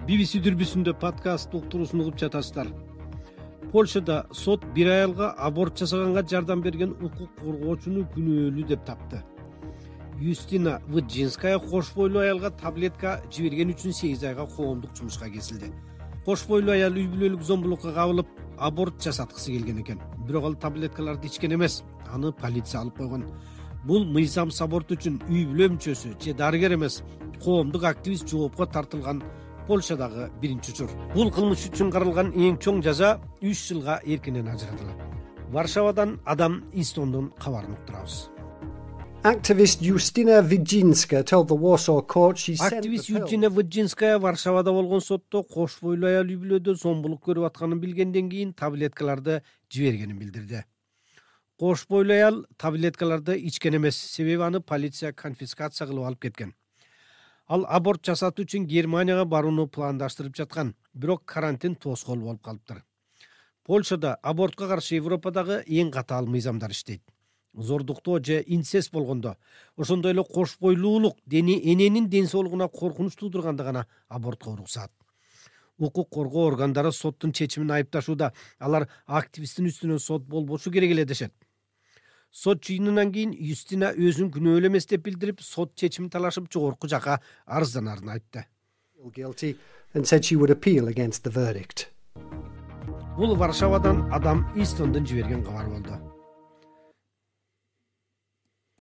BBC дүрбүсүндө подкаст уктуруусун угуп жатасыздар. Польшада сот бир аялга аборт жасаганга жардам берген укук коргоочуну күнөөлүү деп тапты. Юстина Виджинская кош бойлуу аялга таблетка жиберген үчүн 8 айга коомдук жумушка кесилди. Кош бойлуу аял үй бүлөлүк зомбулукка кабылып, аборт жасаткысы келген экен. Бирок ал таблеткаларды ичкен эмес. Аны полиция алып койгон. Бул мыйзамсыз аборт үчүн үй бүлө мүчөсү же дарыгер эмес, коомдук активист жоопко тартылган Польшадагы биринчи учур. Бул кылмыш үчүн каралган эң чоң жаза 3 жылга эркинен ажыратылат. Варшавадан Адам Истондун кабарын уктурабыз. Activist Justina Wydzinska told the Warsaw court she sent Активист Юстина Виджинская Варшавада болгон сотто кош бойлуу аял үй бүлөдө зомбулук көрүп атканын билгенден кийин таблеткаларды жибергенин билдирди. Кош бойлуу аял таблеткаларды ичкен эмес, себеби аны полиция конфискация кылып алып кеткен. Ал аборт жасатуу үчүн Германияга барууну пландаштырып жаткан, бирок карантин тоскоол болуп калыптыр. Польшада абортко каршы Европадагы эң катаал мыйзамдар иштейт. Зордуктоо же инцест болгондо, ошондой эле кош бойлуулук эненин ден соолугуна коркунуч туудурганда гана абортко уруксаат. Укук коргоо органдары соттун чечимин айыпташууда. Алар активисттин үстүнөн сот болбошу керек эле дешет. Сот жыйынынан кийин Юстина өзүн күнөөлүү эмес деп билдирип, сот чечимин талашып жогорку жакка арызданарын айтты. guilty and said she would appeal against the verdict. Бул Варшавадан Адам Истондун жиберген кабары болду.